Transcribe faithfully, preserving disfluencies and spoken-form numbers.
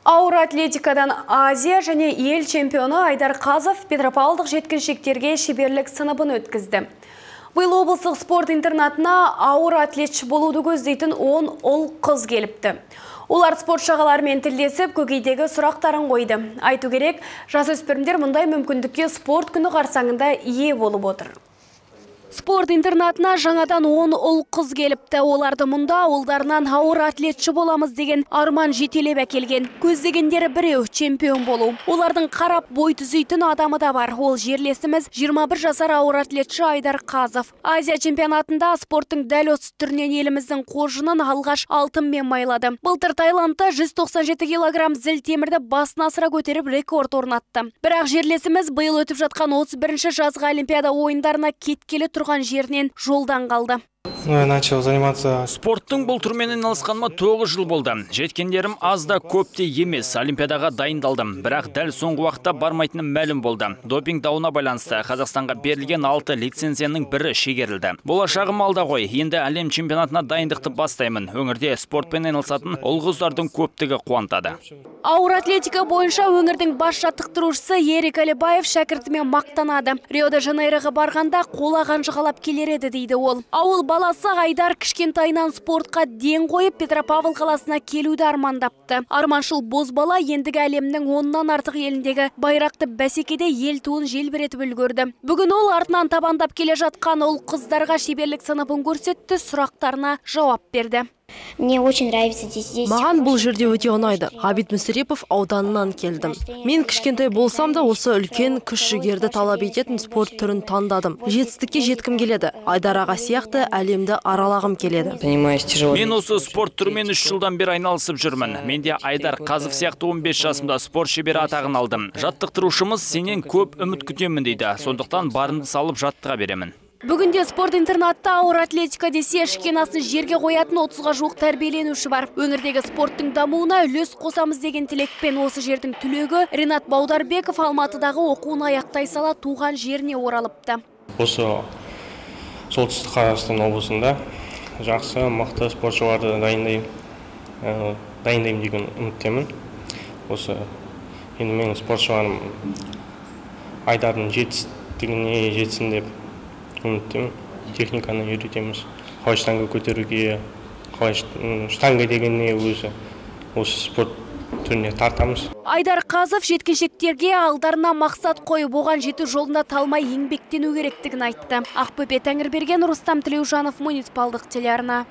Ауыр атлетикадан Азия және ел чемпионы Айдар Қазов Петропавлдық жеткіншектерге шеберлік сыныбын өткізді. Биыл облыстық спорт интернатына ауыр атлетші болуды көздейтін он ұл қыз келіпті. Олар спорт шағаларымен тілдесіп, көкейдегі сұрақтарын қойды. Айту керек, жасөспірімдер мұндай мүмкіндікке спорт күні қарсаңында ие болып отыр. Спорт интернатына жаңадан он ұл қыз келіпті. Оларды мұнда ауылдарынан ауыр атлетші боламыз деген арман жетелеп әкелген. Көздегендері біреу чемпион болу. Олардың қарап бой түзейтін адамы да бар. Ол жерлесіміз жиырма бір жасар ауыр атлетші Айдар Қазов. Азия чемпионатында спорттың дәл осы түрінен еліміздің қоржынын алғаш алтынмен майлады. Былтыр Таиландта жүз тоқсан жеті килограмм зіл темірді басына асыра көтеріп рекорд орнатты. Бірақ жерлесіміз биыл өтіп жатқан отыз бірінші жазғы олимпиада ойындарына кеткелі тұрған жерінен жолдан қалды. Начал заниматься. Спорттың бұл түрмен айналысқаныма тоғыз жыл болды. Жеткендерім аз да көп те емес. Олимпиадаға дайындалдым. Бірақ дәл соңғы уақытта бармайтыным мәлім болды. Допинг дауына байланысты Қазақстанға берілген алты лицензияның бірі шегерілді. Болашағым алда ғой. Енді әлем чемпионатына дайындықты бастаймын. Өңірде спортпен айналысатын ұл қыздардың көптігі қуантады. Ауыр атлетика бойынша өңірдің бас жаттықтырушысы Ерик Әлібаев шәкіртімен мақтанады. Рио-де-Жанейроға барғанда қола қанжығалап келер еді дейді ол. Ауыл баласы Айдар кішкентайынан спортқа ден қойып Петропавл қаласына келуді армандапты. Арманшыл бозбала ендігі әлемнің оннан артық еліндегі байрақты бәсекеде ел туын желбіретіп үлгерді. Бүгін ол артынан табандап келе жатқан ұл қыздарға шеберлік сыныбын көрсетті, сұрақтарына жауап берді. Мне очень нравится здесь. Маған бұл жерде өте ұнайды. Ғабит Мүсірепов ауданынан келдім. Мен кішкентай болсам да осы үлкен күш жігерді талап ететін спорт түрін таңдадым. Жетістікке жеткім келеді. Айдар аға сияқты әлемді аралағым келеді. Мен осы спорт түрімен үш жылдан бері айналысып жүрмін. Менде Айдар Қазов сияқты он бес жасымда спорт шебері атағын алдым. Жаттықтырушымыз сенен көп үміт күтемін дейді. Сондықтан барымды салып жаттыға беремін. Бүгінде спорт интернатта ауыр атлетика десе шкенасын жерге қоятын отызға жуық тәрбиеленуші бар. Өңірдегі спорттың дамуына үлес қосамыз деген тілекпен осы жердің түлегі Ринат Баударбеков Алматыдағы оқуын аяқтай сала туған жеріне оралыпты. Осы солтүстік Қазақстан облысында жақсы, мықты спортшыларды дайындаймын, дайындаймын деген үміттемін. Осы енді менің спортшыларым Айдардың жетістігіне жетсін деп үміттемін. Техниканы үйретеміз. Қалай штанга көтеруге, қалай штанга дегенне өзі осы спорт түріне тартамыз. Айдар Қазов жеткіншектерге алдарына мақсат қойып, оған жету жолында талмай еңбектену керектігін айтты. Ақбөпе Тәңірберген, Рустам Тілеужанов, муниципалдық телеарна.